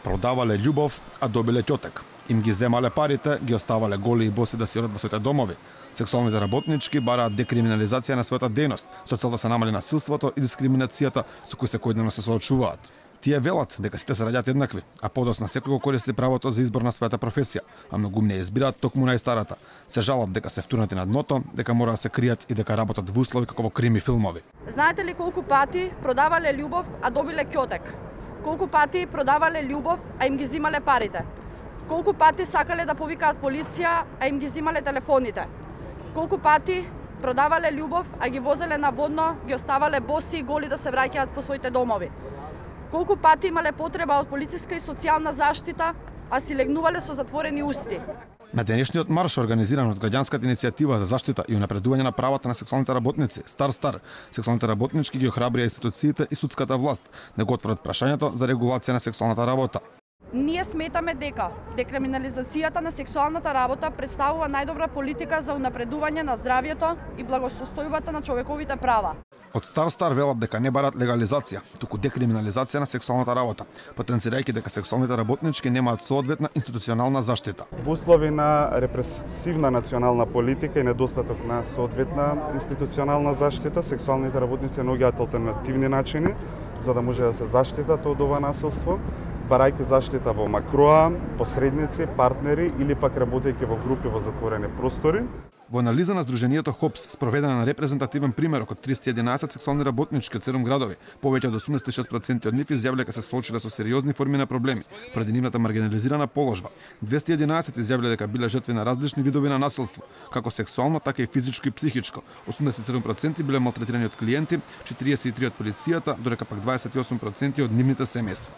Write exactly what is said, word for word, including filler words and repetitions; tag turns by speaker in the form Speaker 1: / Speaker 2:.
Speaker 1: Продавале љубов, а добиле ќотек. Им ги земале парите, ги оставале голи и боси да си одат во своите домови. Сексуалните работнички бараат декриминализација на својата дејност, со цел да се намали насилството и дискриминацијата со кои секојдневно се соочуваат. Тие велат дека сите се раѓаат еднакви, а подоцна секој го користи правото за избор на својата професија, а многумни избираат токму најстарата. Се жалат дека се втурнати на дното, дека мора да се кријат и дека работат во услови како во крими филмови.
Speaker 2: Знаете ли колку пати продавале љубов, а добиле ќотек? Колку пати продавале љубов, а им ги зимале парите? Колку пати сакале да повикаат полиција, а им ги зимале телефоните? Колку пати продавале љубов, а ги возеле на водно, ги оставале боси и голи да се враќаат по своите домови? Колку пати имале потреба од полициска и социјална заштита, а си легнувале со затворени усти?
Speaker 1: На денешниот марш, организиран од граѓанската иницијатива за заштита и унапредување на правата на сексуалните работници, Стар Стар, сексуалните работнички ги охрабрија институциите и судската власт да го отворат прашањето за регулација на сексуалната работа.
Speaker 2: Ние сметаме дека декриминализацијата на сексуалната работа представува најдобра политика за унапредување на здравјето и благосостојбата на човековите права.
Speaker 1: Од Стар Стар велат дека не барат легализација, туку декриминализација на сексуалната работа, потенцирајќи дека сексуалните работнички немаат соодветна институционална заштита.
Speaker 3: Во услови на репресивна национална политика и недостаток на соодветна институционална заштита, сексуалните работници наоѓаат алтернативни начини за да може да се заштитат од ова насилство, барајќи заштита во макроа, посредници, партнери или пак работејќи во групи во затворени простори.
Speaker 1: Во анализа на Сдруженијето ХОПС, спроведена на репрезентативен примерок од триста и единаесет сексуални работнички од седум градови, повеќе од осумдесет и шест проценти од нив изјавиле дека се соочиле со сериозни форми на проблеми поради нивната маргинализирана положба. двесте и единаесет изјавиле дека биле жртви на различни видови на насилство, како сексуално, така и физичко и психичко. осумдесет и седум проценти биле малтретирани од клиенти, четириесет и три од полицијата, додека пак дваесет и осум проценти од нивните семејства.